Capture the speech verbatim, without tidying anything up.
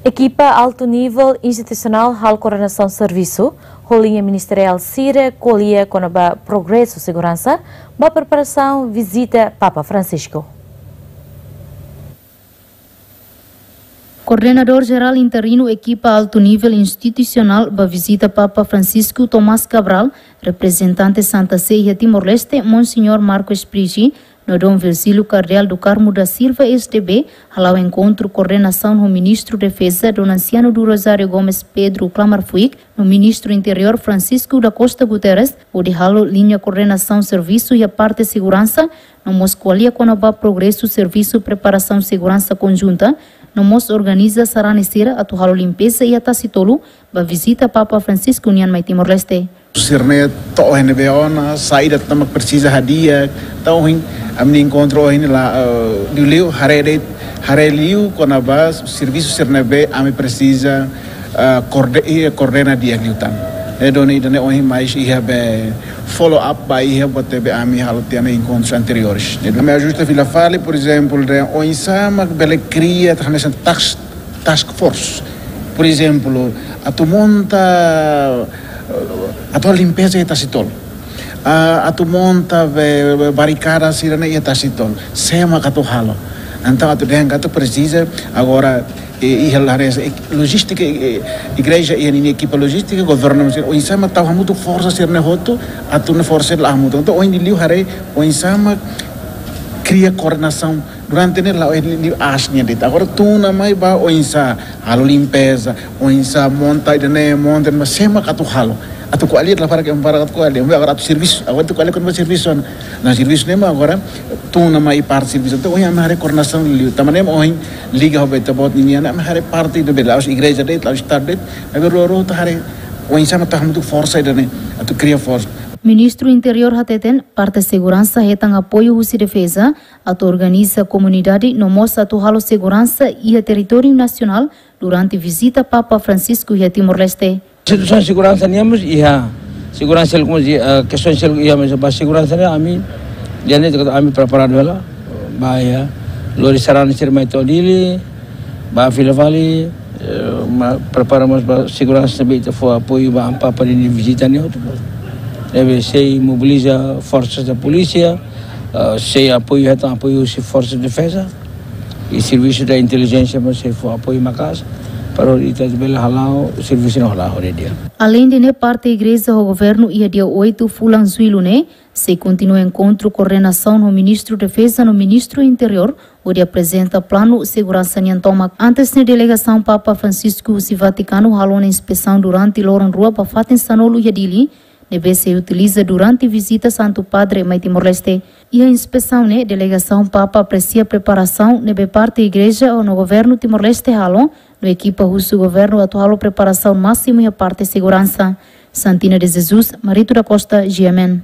Ekipa altu nivel institusionál halo koordenasaun servisu ho liña ministeriál sira ko'alia kona-ba progresu seguransa ba preparasaun vizita Papa Francisco. Koordenadór Jerál Interinu Ekipa Altu Nivel Institusionál ba vizita Papa Francisco, Tomás Cabral, reprezentante Santa Sé iha Timor-Leste, Monseñór Marcos Price, no Dom Virgílio Cardeal do Carmo da Silva, S D B, hala'o enkontru koordenasaun ho Ministru Defeza, Dom Anciano do Rosário Gomes Pedro Klamar Fuik, no Ministru Interiór, Francisco da Costa Guterres, hodi halo liña koordenasaun servisu iha parte seguransa, no mós ko'alia kona-ba progresu servisu preparasaun seguransa konjunta, no mós organiza sarani sira atu halo limpeza iha Tasitolu, ba vizita Papa Francisco nian mai Timor-Leste. Sira-ne'e to'o iha ne'ebé ona, saida tan mak presiza hadi'a, entaun ohin ami enkontru ohin la, eh, liuliu haree de'it, haree liu kona-ba servisu sira-ne'ebé ami presiza, eh, koorde-, eh, koordena di'ak liután. Ne'e duni ida-ne'e ohin mais iha be follow up ba iha buat ne'ebé ami halo tiha ona enkontru anteriores. Ami ajusta fila fali, por ezemplu, de oinsá mak bele kria hanesan task, task force. Por ezemplu, atu monta, eh, atu limpeza iha Tasitolu. Ah, atu monta be, be barikada sira-ne'e iha Tasitolu. Sé mak atu halo. Entaun atu dehan katak presiza agora, eh, iha lares, eh, lojístika, eh, igreja iha ninia ekipa lojístika, governu sira, oinsá mak tau hamutuk forsa sira-ne'e hotu, atu ne'e forsa la hamutuk. Entaun ohin liuliu haree oinsá mak kria koordenasaun durante ne'e la'o iha liuliu aas nian de'it. Agora tun ona mai ba oinsá halo limpeza, oinsá monta ida-ne'e, monta ida-ne'e, sé mak atu halo. Atu ko'alia la para ke para atu ko'alia, agora atu servisu, agora atu ko'alia kona-ba servisu ona. Nah, servisu ne'e mak agora tun ona mai parte servisu. Entaun ohin ami haree koordenasaun liu. Tanba ne'e mak ohin liga ho be ita-boot ninian, ami haree parte ida be la'ós igreja de'it, la'ós estadu de'it, ami rua-rua atu haree oinsá mak tau hamutuk forsa ida-ne'e, atu kria forsa. Ministru Interiór hateten, parte seguransa hetan apoiu husi defeza, atu organiza komunidade, no mós atu halo seguransa iha territóriu nasionál durante vizita Papa Francisco iha Timor-Leste. Situasaun seguransa nian mós iha, seguransa seluk mós iha, eh, kestaun seluk iha, mas ba seguransa ne'e ami, di'ak ne'e ami preparadu hela, ba iha, lori sarani sira mai to'o Dili, ba fila fali, eh, ma prepara mós ba seguransa ne'ebé ita fó apoiu ba Amu Papa ninia vizita ne'e hotu. Ne'ebé sei mobiliza forsas da polísia, eh, sei apoiu, hetan apoiu husi forsa defeza, i servisu da intelijénsia mós sei fó apoiu maka'as, para ita bele hala'o servisu ne'e hala'o ho di'ak. Aleinde ne'e, parte igreja ho governu iha dia oitu fulan Jullu ne'e sei kontinua enkontru koordenasaun ho Ministru Defeza no Ministru Interiór, hodi aprezenta planu seguransa nian tomak. Antes ne'e delegasaun Papa Francisco husi Vatikanu halo ona inspesaun durante loron rua ba fatin sanulu iha Dili, ne'ebé sei utiliza durante vizita Santu Padre mai Timor-Leste. Iha inspesaun ne'e, delegasaun Papa apresia preparasaun ne'ebé parte igreja no governu Timor-Leste halo, no ekipa husu governu atu halo preparasaun másimu iha parte seguransa. Santina de Jesus, Marito da Costa, G M N.